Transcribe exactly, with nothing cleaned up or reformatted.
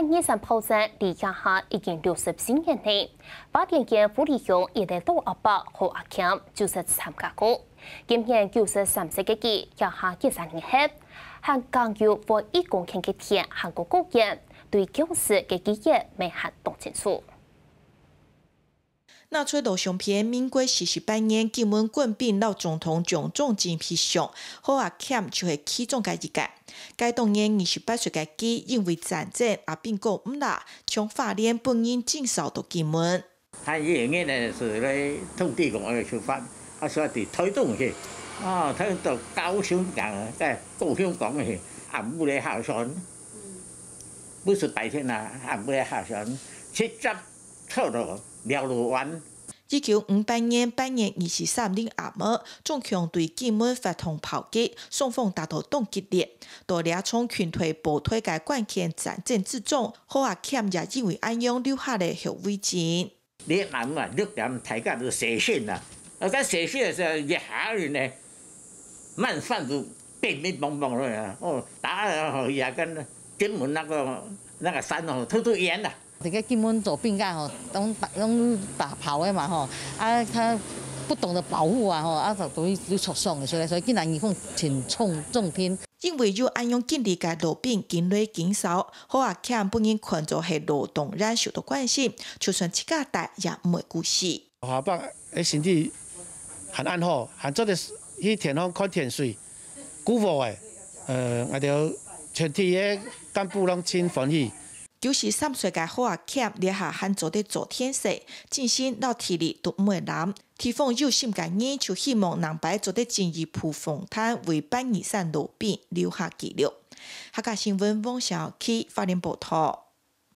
二三炮戰離這下已經六十四年了，花蓮縣富里鄉一个老阿伯何阿謙就識參加過。今年九十三歲个佢，這下幾十年後，還耕有五億公頃个田還過過遠，對舊時个記憶乜還當清楚。 拿出老相片，民國四十八年金門官兵摎總統蔣中正翕相，何阿謙就係其中个一個。該當年二十八歲个佢，因為戰爭，阿兵哥毋罅，從花蓮分人徵召到金門。他也原來是來土地公的出發，他說對台東去，啊，台東到高雄港，在高雄港去，暗晡來下船，不是白天啊，暗晡來下船，直接 坐到寮路灣。一九五八年八月二十三日暗晡，中共對金門發動炮擊，雙方打到當激烈。到這場群隊部隊个關鍵戰爭之中，何阿謙也因為恁樣留下了後遺症。你暗晡啊，六點大家都洗身啊，啊，該洗身个時候，一下人呢，滿山都乒乒乓乓了啊！哦，打啊，也跟金門那個那個山哦，透透煙了。 這个金門做兵个吼，攏打攏打炮个嘛吼，啊，他不懂得保護啊吼，啊，就容易有受傷个，所以所以今仔日講挺重重聽。因為有恁樣經歷个老兵緊來緊少，何阿謙分人看做係老同仁受到關心，就算自家大也毋會孤栖。何阿伯个身體還恁好，還做得去田方看田水，顧禾个，呃，𠊎兜全體个幹部攏真歡喜。 九十三歲个何阿謙這下還做得做田事，精神摎體力都毋會懶。地方有心个人就希望能擺做得進一步訪談，為八二三老兵留下記錄。客家新聞，王小琪，花蓮報導。